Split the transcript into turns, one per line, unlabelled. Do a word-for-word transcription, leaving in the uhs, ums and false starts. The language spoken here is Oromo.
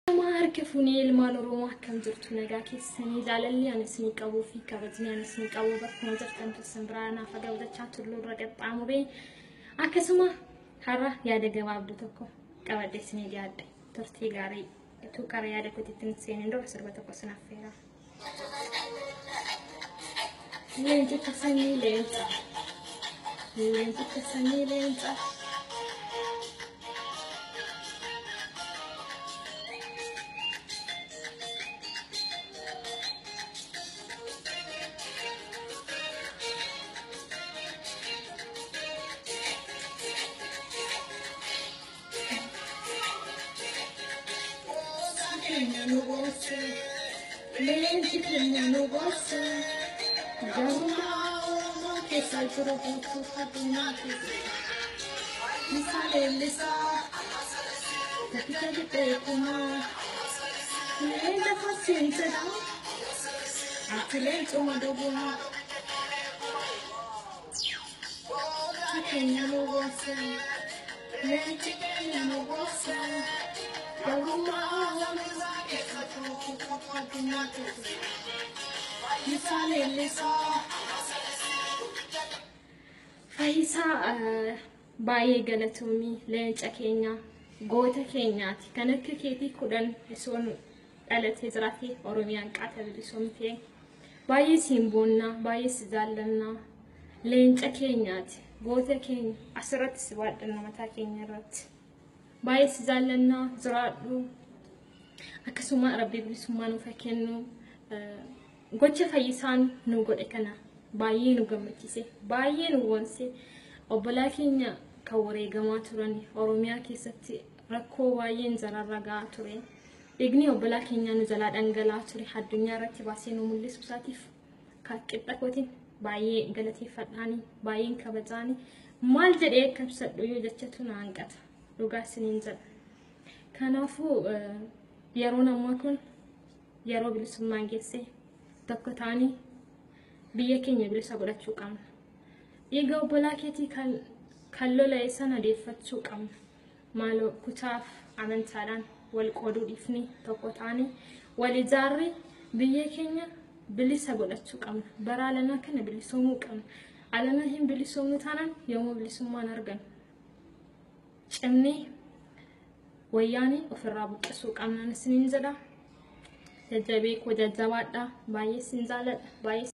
Harka fuunee ilmaan Oromoo akkam jirtu nagaa keessanii jaalalli ani isinii qabuu fi kabajni ani isinii qabu bakkuma jirtan keessan biraa naaf gabdachaa tulluu irra qaxxaamuree akkasuma har'a yaada gabaabduu tokko qabadhee isinii dhiyaadhe turtii gaarii utuu karaa yaada kootiitti hin seenin dura sirba tokko isin affeera. Leencicha sanyii leenca. Leencicha sanyii leenca. Keenya nu goose, leenci keenya nu goose, garummaa Oromoo keessa jiru guutuu addunyaa keessa. Isaa leellisaa, tokkicha qixxee kumaa, leenca fassiin jedha, ati leencuma dhugumaa. Keenya nu goose, leenci keenya nu goose. Garummaa Oromoo keessa jiru guutuu addunyaa keessa. Isaa leellisaa. Fayyisaa baay'ee galatoomii leenca keenya goota keenyaati. Kan akka keetii kudhan osoo dhalatee jiraate Oromiyaan qaata bilisoomtee. Baay'ee siin boonnaa, baay'ee si jaallannaa. Leenca keenyaati. Goota keenya asirratti si baadhanna mataa keenya irratti. Baay'ee si jaallannaa jiraadhu. Akkasuma Rabbi bilisummaa nuuf haa kennu. Gocha fayyisaan nu godhe kana baay'ee nu gammachiise, baay'ee nu boonse. Obbolaa keenya kan wareegamaa turan Oromiyaa keessatti rakkoo baay'een jararra gahaa ture. Dhiigni obbolaa keenyaa nu jalaa dhangala'aa ture addunyaa irratti baasee nu mul'isu isaatiif qixxa kootiin baay'ee galateeffadhaani, baay'een kabajaani. Maal jedhee akka ibsadhu yoo jechatu na hanqata. Dhugaa isiniin jedha. Kanaafuu yeroon ammaa kun yeroo bilisummaan geesse tokko ta'anii biyya keenya bilisa godhachuu qabna. Dhiiga obbolaa keetii kan lola'e sana deeffachuu qabna. Maaloo kutaaf amantaadhaan wal qooduu dhiifnee tokko ta'anii wal ijaarree biyya keenya bilisa godhachuu qabna. Bara alanaa kana bilisoomuu qabna. Alanaa hin bilisoomnu taanaan yommuu bilisummaan argannu cimnee wayyaanii ofirraa buqqisuu qabna isiniin jedha. Jajjabee koo jajjabaadha. Baay'ee isin jaalladha. Baay'ee